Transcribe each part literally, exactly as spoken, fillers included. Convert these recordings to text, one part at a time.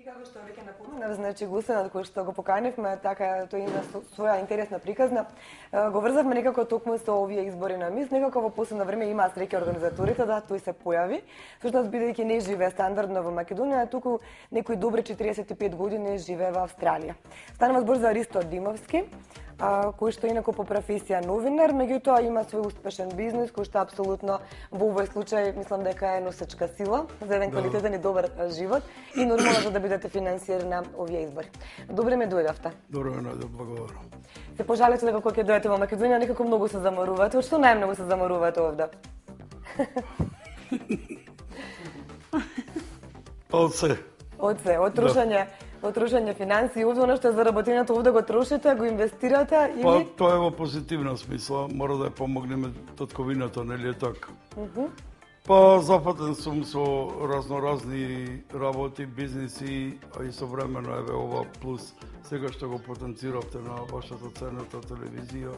И како што веќе напоменав, значи гостинот кој што го поканивме, така тој има своја интересна приказна. Го врзавме некако токму со овие избори на МИС, некако во последно време има среќа организаторите да тој се појави. Всушност бидејќи не живее стандардно во Македонија, туку некои добри четиресет и пет години живее во Австралија. Станува збор за Ристо Димовски, кој што инаку по професија новинар, меѓутоа има свој успешен бизнис кој што апсолутно во овој случај мислам дека е носечка сила за еден квалитетен и добар живот и нормално за да бидете финансиери на овие избори. Добре ме дојдовте. Добре ме дојдов, благодарам. Се пожалете дека кога ќе дојдете во Македонија некако многу се заморувате. Од што најмногу се заморувате овде? Од се. Од се, од трушање, од трушање финансии, овде она што е заработеното овде го трошите, го инвестирате или? Па тоа е во позитивна смисла, мора да ја помогнеме татковината, нели е така? Uh -huh. Па запатен сум со разноразни работи, бизниси, а истовремено еве ова плюс сега што го потенциравте на вашата ценета телевизија,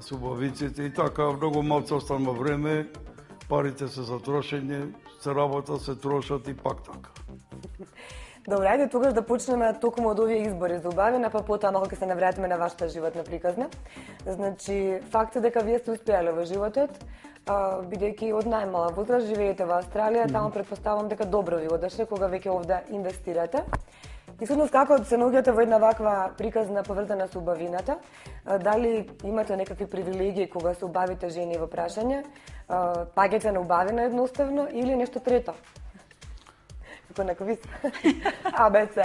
субавиците и така, многу малку останува време, парите се за трошење, се работа, се трошат и пак така. Добре, ајде тогаш да почнеме токму од овие избори за убавина, па потоа малку ќе се навратиме на вашата животна приказна. Значи, факт е дека вие сте успеале во животот, бидејќи од најмала возраст живеете во Австралија, таму претпоставам дека добро ви одеше кога веќе овде инвестирате. И всушност како се наоѓате во една ваква приказна поврзана со убавината? Дали имате некакви привилегии кога се убавите жени во прашање? Паѓате на убавина едноставно или нешто трето? Како на квиз? А, Б, С.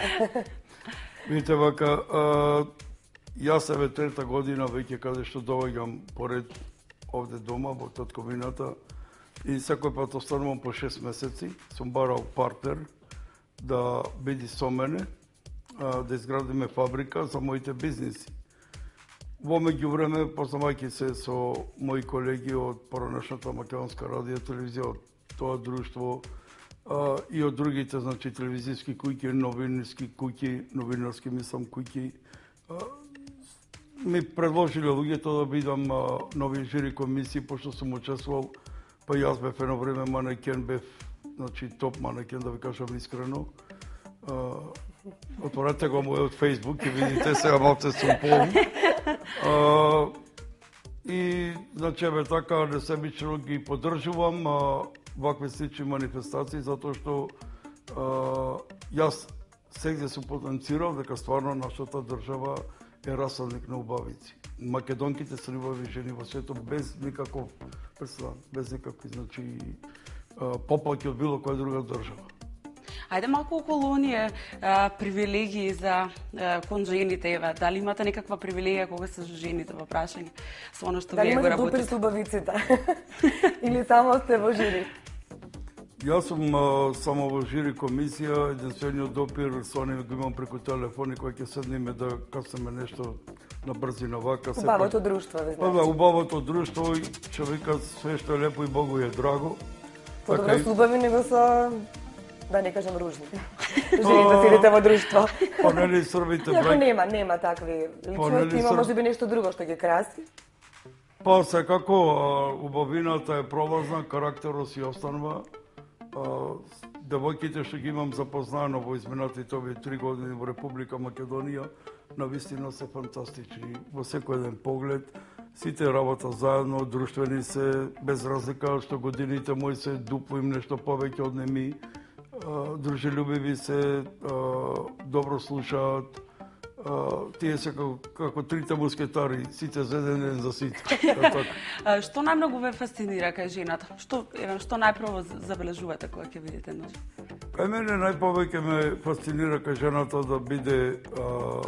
Видите, вака, јас еве трета година веќе каде што доаѓам поред овде дома во татковината и секој пат останувам по шест месеци. Сум барал партнер да биде со мене, да изградиме фабрика за моите бизниси. Во меѓувреме, познавајќи се со мои колеги од поранешната македонска радио телевизија, од тоа друштво, Uh, и од другите, значи, телевизијски куќи, новинарски куќи, новинарски, мислам, куќи, uh, ми предложиле луѓето да бидам uh, нови жири комисии, пошто сум учествувал, па јас бев едно време манекен, бев, значи, топ манекен, да ви кажам искрено. Uh, отворете го мојот Facebook и видите сега малце сум полн. Uh, и, значи, еве така, несебично ги поддржувам, uh, вакви слични манифестации, затоа што а, јас сегде сум потенцирал дека стварно нашата држава е расалник на убавици. Македонките се убави жени во светот без никаков преседан, без никакви, значи, поплаки од било која друга држава. Ајде малку околу оние а, привилегии за а, кон жените, еве, дали имате некаква привилегија кога се жените во прашање со оно што дали вие го имате работите? допир со убавиците? Или само сте во жири? Јас сум а, само во жири комисија, единствениот допир со оние го имам преку телефон и кога ќе седнеме да каснеме нешто на брзина вака. Убавото друштво, ве знаете. Па да, убавото друштво и човекот све што е лепо и Богу е драго. Подобро со убави него со, да не кажам, ружни. Жените седите во друштво. Па нели србите браќа? Нема, нема такви личности, има можеби нешто друго што ги краси. Па секако убавината е пролазна, карактерот си останува. Девојките што ги имам запознано во изминатите овие три години во Република Македонија, навистина се фантастични. Во секој еден поглед, сите работа заедно, друштвени се, без разлика што годините мои се дупло им нешто повеќе од неми, дружелюбиви се, добро слушаат, тие се како, како трите мускетари, сите за еден, еден за сите. Што најмногу ве фасцинира кај жената? Што, еве, што најпрво забележувате кога ќе видите нож? Кај мене најповеќе ме фасцинира кај жената да биде а,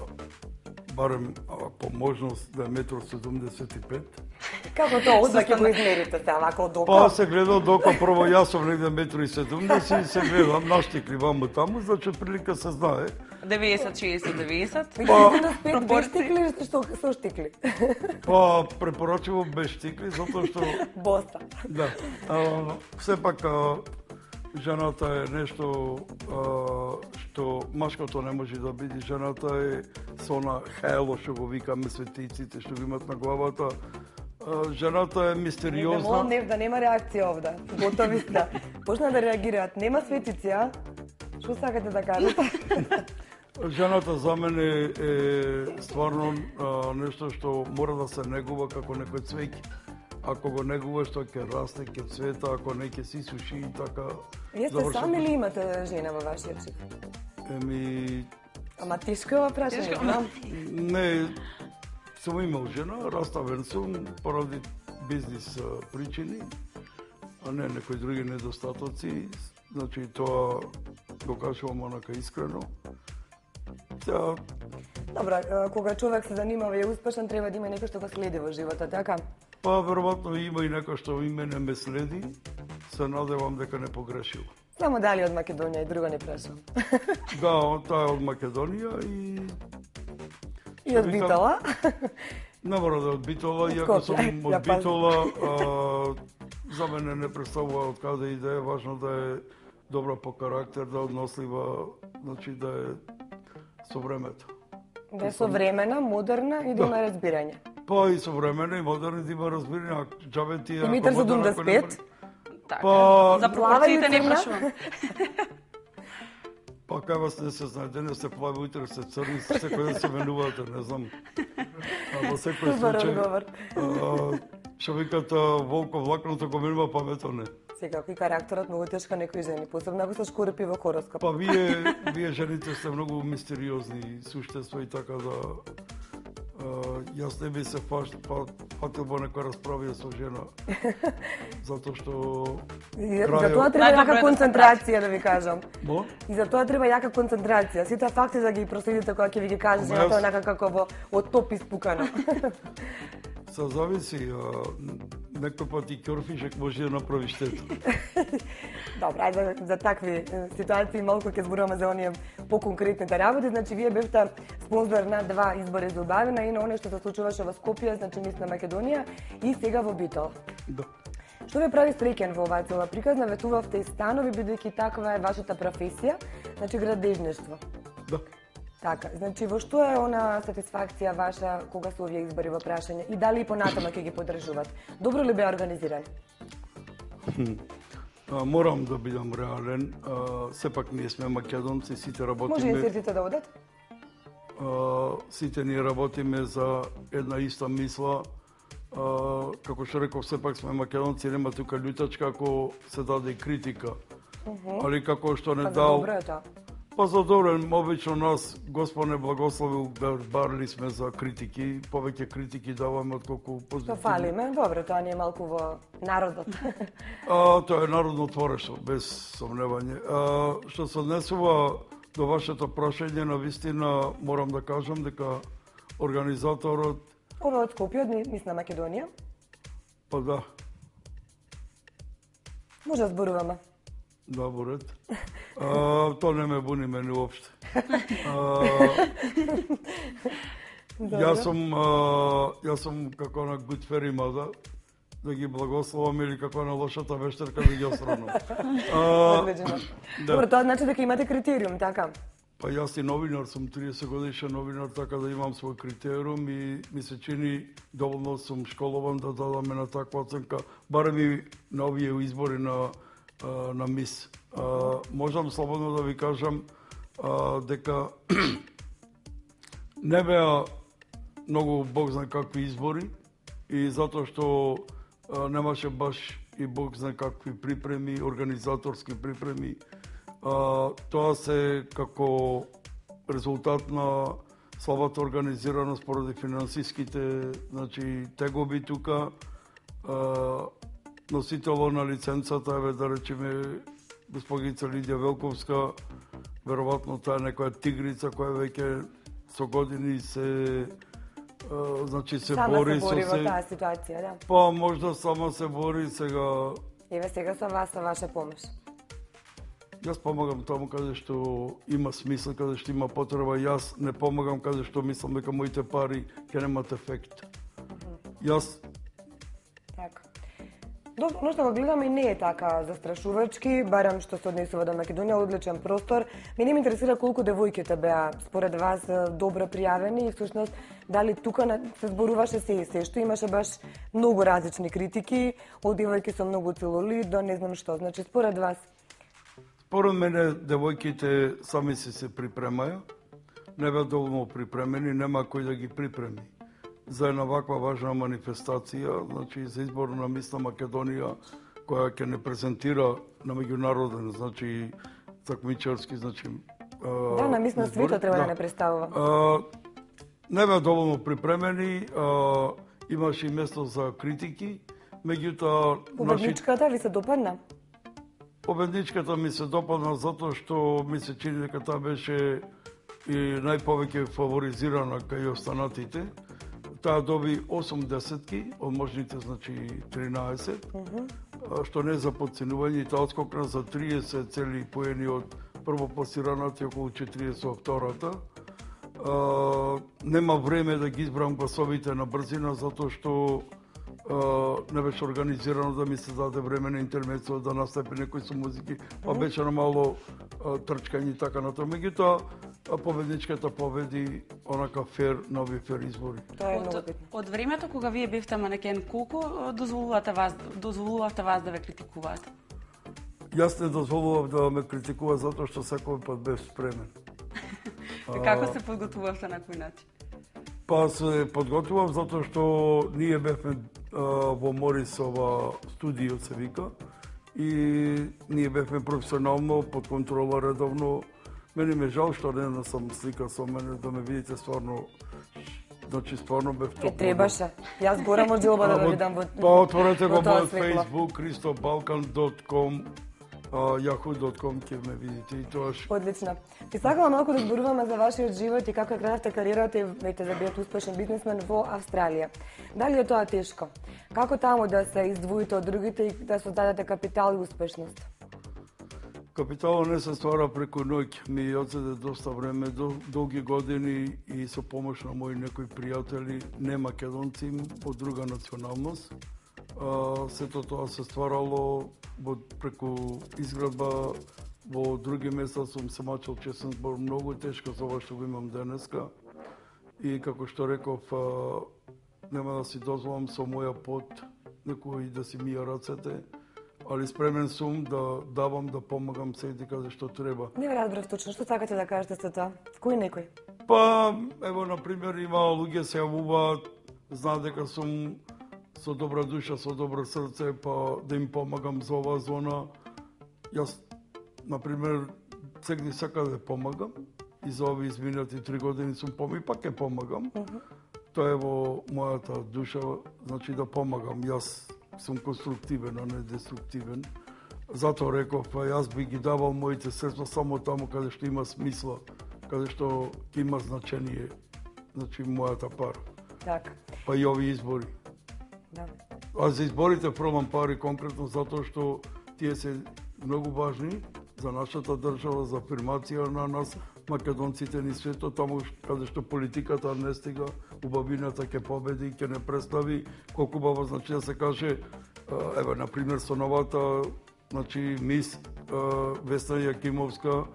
барем а, по можност да е метар седумдесет и пет. Како тоа, одма ќе го измерите се, вако од око? Па се гледа од око, прво јас сум негде метар седумдесет и се гледам, наштикли ваму таму, значи прилика се знае. деветдесет шеесет деветдесет. Па, без штикли или што со штикли? Па, препорачливо без штикли, затоа што... Боса. Да. А, сепак, а, жената е нешто а, што машкото не може да биде. Жената е со она хело што го викаме светиците, што го имат на главата. А, жената е мистериозна. Не, молам, не, да нема реакција овде. Готови сте. Почна да реагираат. Нема светици, а? Што сакате да кажете? Жената за мене е стварно а, нешто што мора да се негува како некој цвеќе. Ако го негуваш, тоа ќе расте, ќе цвета, ако не ќе се суши и така. Вие сте сами или имате жена во вашиот шип? Еми... Ама тешко е ова прашање, знам. Не, сум имал жена, раставен сум поради бизнис причини, а не некои други недостатоци. Значи, тоа го кажувам онака искрено. Тя... Добро, кога човек се занимава и е успешен, треба да има некој што го следи во животот, така? Па, веројатно има и некој што и мене ме следи. Се надевам дека не погрешил. Само дали од Македонија и друго не прашам. Да, таа е од Македонија и... И од Битола? Не мора да е од Битола, иако сум од Битола, за мене не представува од каде иде, важно да е добра по карактер, да е однослива, значи да е со времето. Да е современа, модерна и да има разбирање. Па и современа и модерна да има разбирање. Џабе ти е... Димитар за дум да спет? Така, Па... за пропорциите не прашувам. Па кај вас не се знае, денес се плави, утре се црни, секој ден се менувате, не знам. А во секој случај, што викат волко влакното го менува, паметот не. Секако и карактерот многу тешка некои жени, посебно ако се шкурпи во хороскоп. Па вие, вие жените сте многу мистериозни суштества и така да... Uh, јас не би се фатил во некоја расправија со жена, затоа што... И за тоа треба јака концентрација, да ви кажам. Бо? И за тоа треба јака концентрација. Сите факти да ги проследите кога ќе ви ги каже жена, тоа е онака како во од топ испукано. Се зависи, а, некој пат и ќорфишек може да направи штета. Добро, ајде за такви ситуации малку ќе зборуваме за оние поконкретните работи. Значи, вие бевте спонзор на два избори за убавина и на оно што се случуваше во Скопје, значи мис на Македонија и сега во Битол. Да. Што ве прави среќен во оваа цела приказна? Ветувавте и станови, бидејќи таква е вашата професија, значи градежништво. Да. Така, значи во што е она сатисфакција ваша кога се овие избори во прашање и дали и понатаму ќе ги поддржуват? Добро ли беа организирани? А, морам да бидам реален, а, сепак ние сме македонци, сите работиме... Може инсертите да одат? А, сите ние работиме за една иста мисла. А, како што реков, сепак сме македонци, нема тука љутачка ако се даде критика. Uh -huh. Али како што не па дал... Добро е тоа. Па за добро, обично нас, Господ не благослови, барли сме за критики, повеќе критики даваме отколку позитивни. Што фалиме, добро, тоа не е малку во народот. А, тоа е народно творештво, без сомневање. А, што се однесува до вашето прашање, на вистина морам да кажам дека организаторот... Ова од Скопје, мис на Македонија? Па да. Може да зборуваме. Да, во ред. А, тоа не ме буни мене уопште. А, јас сум, а, јас сум како на good fairy mother, да ги благословам или како на лошата вештерка да ги осранам. Да. Добро, тоа значи дека имате критериум, така? Па јас и новинар сум, триесет годишен новинар, така да имам свој критериум и ми се чини доволно сум школован да дадаме на таква оценка, барем и на овие избори на на мис. А, можам слободно да ви кажам а, дека не беа многу бог знае какви избори и затоа што а, немаше баш и бог знае какви припреми, организаторски припреми. А, тоа се како резултат на слабата организираност поради финансиските, значи, тегоби тука. А, носитело на лиценцата, еве да речеме госпогица Лидија Велковска, веројатно таа е некоја тигрица која веќе со години се а, значи се сама бори се бори со во се... таа ситуација, да. Па можда сама се бори сега. Еве сега со вас, со ваша помош. Јас помагам таму каде што има смисла, каде што има потреба. Јас не помагам каде што мислам дека моите пари ќе немат ефект. Јас така. Добро, но што го гледаме не е така застрашувачки, барем што се однесува до Македонија, одличен простор. Мене ме интересира колку девојките беа според вас добро пријавени и всушност дали тука се зборуваше се и се, што имаше баш многу различни критики, од девојки со многу целулит до не знам што. Значи според вас Според мене, девојките сами се се припремаја, не беа доволно припремени, нема кој да ги припреми. За една ваква важна манифестација, значи за избор на мис на Македонија, која ќе не презентира на меѓународен, значи такмичарски, значи Да, на мис на светот треба да не представува. Не беа доволно припремени, а, имаше и место за критики, меѓутоа... Победничката ви се допадна? Победничката ми се допадна затоа што ми се чини дека таа беше и најповеќе фаворизирана кај останатите. Таа доби осум десетки, од можните, значи тринаесет, uh -huh. што не е за подценување, и таа отскокна за триесет цели поени од првопласираната и околу четириесет од втората. Uh, нема време да ги избрам гласовите на брзина, затоа што uh, не беше организирано да ми се даде време на интермецо да настапи некои со музики, па беше на мало uh, трчкање и така на тоа. Меѓутоа, победничката победи онака фер, нови фер избори. Тоа е многу битно. Од времето кога вие бевте манекен, колку дозволувате вас, дозволувавте вас да ве критикуваат? Јас не дозволував да ме критикува затоа што секој пат бев спремен. Како се подготвувавте на кој начин? Па се подготвував затоа што ние бевме а, во Морисова студио се вика и ние бевме професионално под контрола редовно. Мене ме жал што не сум слика со мене да ме видите стварно. Значи стварно бев топ. Е требаше. Јас горам од џелба да ве видам во. Па отворете го мојот Facebook кристо балкан точка ком. Yahoo точка com ќе ме видите и тоаш. Одлично. Ти сакала малку да зборуваме за вашиот живот и како кrenавте кариерата и веќе да бидете успешен бизнесмен во Австралија. Дали е тоа тешко? Како таму да се издвоите од другите и да создадете капитал и успешност? Капиталот не се ствара преку ноќ. Ми одзеде доста време, долги години и со помош на мои некои пријатели, не македонци, од друга националност. Uh, сето тоа се стварало во, преку изградба во други места. Сум се мачал честен збор многу тешко за ова што го имам денеска и како што реков, uh, нема да си дозволам со моја пот некој да си мија рацете, али спремен сум да давам, да помагам секаде каде што треба. Не ме разбрав точно, што сакате да кажете со тоа? Кој некој? Па, ево, например, има луѓе се јавуваат, знаат дека сум со добра душа, со добро срце, па да им помагам за оваа зона. Јас, например, сегди сака да помагам и за овие изминати три години сум помагам и пак ќе помагам. Uh -huh. Тоа е во мојата душа, значи да помагам. Јас сум конструктивен, а не деструктивен. Затоа реков, па јас би ги давал моите средства само таму каде што има смисла, каде што ќе има значение, значи мојата пара. Така. Па и овие избори. Да. А за изборите пробам пари конкретно затоа што тие се многу важни за нашата држава, за афирмација на нас, македонците ни светот, таму каде што политиката не стига, убавината ќе победи, ќе не представи, колку баба, значи да се каже, еве, например, со новата, значи, мис Весна Јакимовска,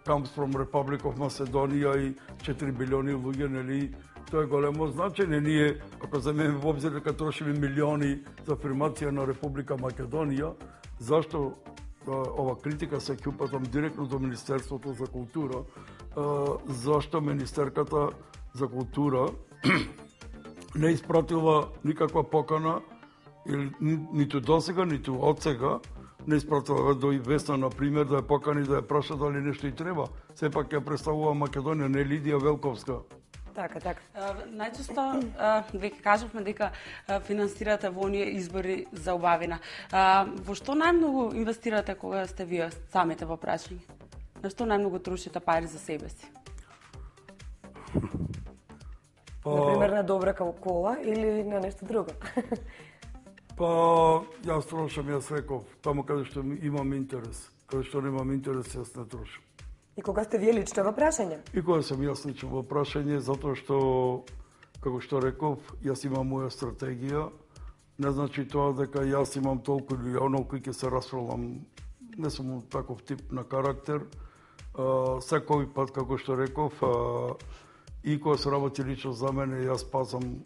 comes from Republic of Macedonia и четири билиони луѓе, нели, тоа е големо значење. Ние, ако земеме во обзир дека трошиме милиони за афирмација на Република Македонија, зашто ова критика се ќе упатам директно до Министерството за култура, зашто Министерката за култура не испратила никаква покана, или ниту досега, ниту одсега, не испратила до Весна, например, да ја покани, да ја праша дали нешто и треба. Сепак ја представува Македонија, не Лидија Велковска. Така, така. Најчесто, веќе кажавме дека финансирате во оние избори за убавина. Во што најмногу инвестирате кога сте вие самите во прашање? На што најмногу трошите пари за себе си? Па... Например, на добра кола или на нешто друго? Па, јас трошам, јас реков, таму каде што имам интерес. Каде што немам интерес, јас не трошам. И кога сте вие лично во прашање? И кога сум јас лично во прашање, затоа што, како што реков, јас имам моја стратегија. Не значи тоа дека јас имам толку или онолку ќе се расфрлам. Не сум таков тип на карактер. Секој пат, како што реков, и кога се работи лично за мене, јас пазам